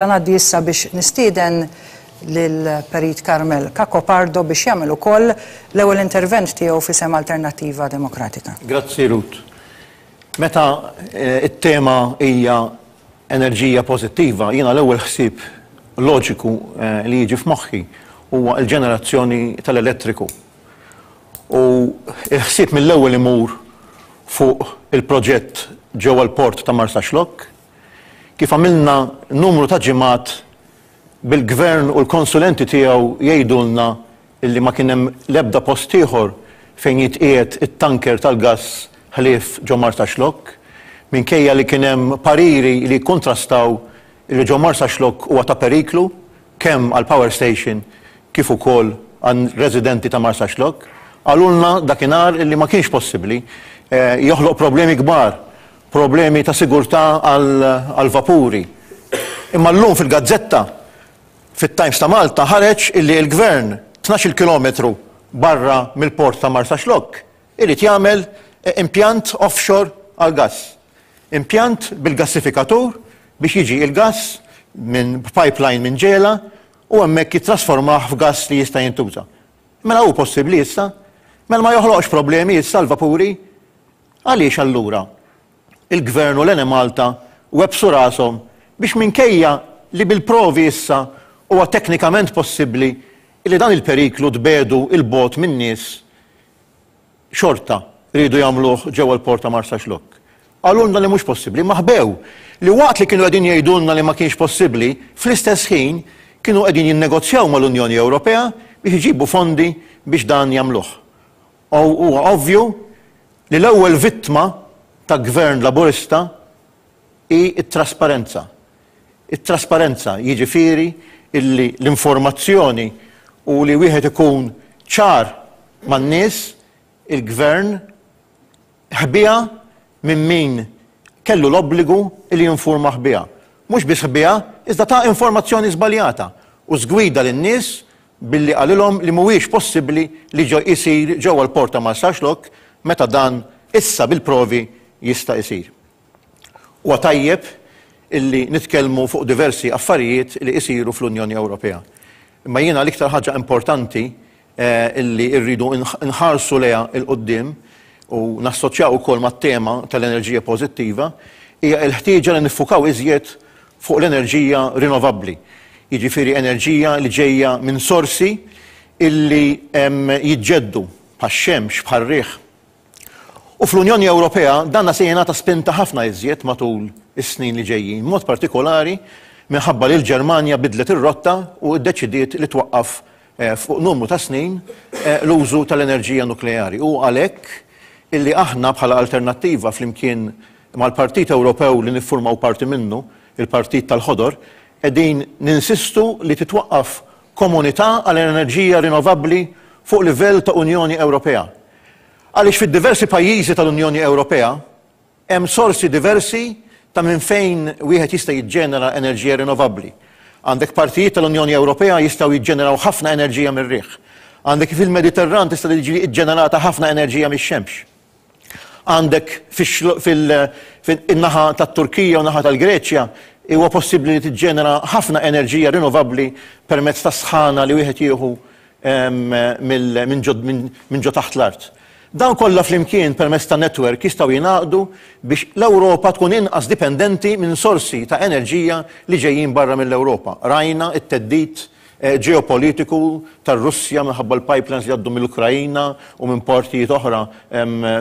Ngħaddi issa biex nistieden lil Perit Carmel Cacopardo biex jagħmel ukoll l-ewwel intervent tiegħu f'isem Alternattiva Demokratika. Grazzi Ruth. Meta t-tema hija enerġija pożittiva, jiena l-ewwel ħsieb loġiku li jiġi f'moħħi huwa l-ġenerazzjoni tal-elettriku. U l-ħsieb mill-ewwel imur fuq il-proġett ġewwa l-port ta' Marsaxlokk, Kif għamilna numru ta' ġimgħat bil-Gvern u l-konsulenti tiegħu jgħidulna illi ma kien hemm l-ebda post ieħor fejn jitqiegħed it-tanker tal-gass ħlief ġo Marsaxlokk, minkejja li kien hemm pariri li jikkuntrastaw illi ġo Marsaxlokk huwa ta' periklu kemm għall-power station kif ukoll għar-residenti ta' Marsaxlokk. Qalulna dakinhar illi ma kienx possibbli, joħloq problemi kbar Problemi ta' sigurtà għall-vapuri. Imma llum fil-gazzetta, fit-Times ta' Malta ħareġ illi l-Gvern tnax-il kilometru barra mill-port ta' Marsaxlokk irid jagħmel impjant offshore għall-gass. Impjant bil-gassifikatur biex jiġi l-gass minn pipeline minn Ġela u hemmhekk jittrasformah f'gass li jista' jintuża. Mela hu possibbli issa? Mela ma joħloqx problemi issa l-vapuri? Għaliex allura il-Gvern u l-Enemalta webbsu rashom biex minkejja li bil-provi issa huwa teknikament possibbli li dan il-periklu tbiegħdu 'l bogħod min-nies xorta riedu jagħmluh ġewwa l-Port ta' Marsaxlokk? Qalulna li mhux possibbli, imma ħbew li waqt li kienu qegħdin jgħidulna li ma kienx possibbli, fl-istess ħin kienu qegħdin jinnegozjaw mal-Unjoni Ewropea biex iġibu fondi biex dan jagħmluh. Huwa ovvju li l-ewwel vittma ta' Gvern Laburista hi t-trasparenza. It-trasparenza jiġifieri illi l-informazzjoni u li wieħed ikun ċar man-nies, il-Gvern ħbieha minn min kellu l-obbligu li jinfurmah biha. Mhux biss ħbieha, iżda ta informazzjoni żbaljata u żgwida lin-nies billi qalilhom li mhuwiex possibbli li jsir ġewwa l-Port ta' Marsaxlokk meta dan issa bil-provi jista' jsir. Huwa tajjeb illi nitkellmu fuq diversi affarijiet li jsiru fl-Unjoni Ewropea. Imma jiena l-iktar ħaġa importanti illi rridu nħarsu lejha 'l quddiem u nassoċjaw ukoll mat-tema tal-enerġija pożittiva hija l-ħtieġa li niffukaw iżjed fuq l-enerġija rinnovabbli, jiġifieri enerġija li ġejja minn sorsi illi jiġġeddu bħax-xemx, bħar-riħ. U fl-Unjoni Ewropea danna se jingħata spinta ħafna iżjed matul is-snin li ġejjin, b'mod partikolari minħabba li l-Ġermanja bidlet ir-rotta u ddeċidiet li twaqqaf fuq numru ta' snin l-użu tal-enerġija nukleari. U għalhekk illi aħna bħala Alternattiva flimkien mal-Partit Ewropew li niffurmaw parti minnu, il-Partit tal-Ħodor, qegħdin ninsistu li titwaqqaf komunità għal enerġija rinnovabbli fuq livell ta' Unjoni Ewropea. Għaliex fid-diversi pajjiżi tal-Unjoni Ewropea hemm sorsi diversi ta' minn fejn wieħed jista' jiġġenera enerġija rinnovabbli. Għandek partijiet tal-Unjoni Ewropea jistgħu jiġġeneraw ħafna enerġija mir-riħ. Għandek fil-Mediterran tista' tiġi ġġenerata ħafna enerġija mix-xemx. Għandek fil-naħa tat-Turkija u naħa tal-Greċja huwa possibbli li tiġġenera ħafna enerġija rinnovabbli permezz tas-sħana li wieħed jieħu minn ġo taħt l-art. Dawn kollha flimkien permezz ta' netwerk jistgħu jingħaqdu biex l-Ewropa tkun inqas dipendenti minn sorsi ta' enerġija li ġejjin barra mill-Ewropa. Rajna t-theddid ġeopolitiku tar-Russja minħabba l-pipelines li jgħaddu mill-Ukraina u minn partijiet oħra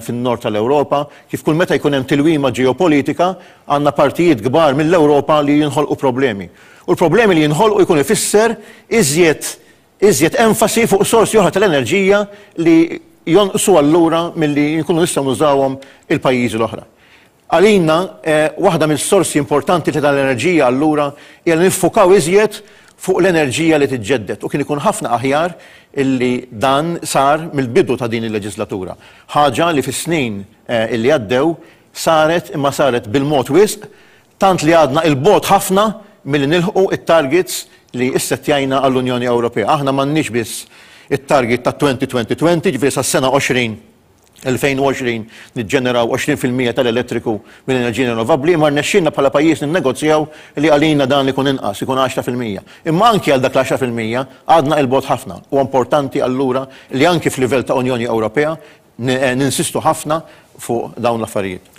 fin-nord tal-Ewropa, kif kull meta jkun hemm tilwima ġeopolitika għandna partijiet kbar mill-Ewropa li jinħolqu problemi. U l-problemi li jinħolqu jkun ifisser iżjed iżjed enfasi fuq sorsi oħra tal-enerġija li jonqsu allura milli nkunu nistgħu nużawhom il-pajjiżi l-oħra. Għalina, waħda mis-sorsi importanti ta' tal-enerġija allura hija li niffukaw iżjed fuq l-enerġija li tiġġedded u kien ikun ħafna aħjar illi dan sar mill-bidu ta' din il-leġislatura. Ħaġa li fis-snin illi għaddew saret imma saret bil-mod wisq tant li għadna 'il bogħod ħafna milli nilħqu t-targets li ssettjajna għall-Unjoni Ewropea. Aħna m'għandniex biss it-target ta' 2020-20, ġifieri sas-sena 20. 2020 niġġeneraw 20% tal-elettriku minn enerġija rinnovabbli, imma rnexxielna bħala pajjiż ninnegozjaw li għalina dan ikun inqas, ikun 10%. Imma anki għal dak l-10% għadna 'il bogħod ħafna. Huwa importanti allura li anki f'livell ta' Unjoni Ewropea ninsistu ħafna fuq dawn l-affarijiet.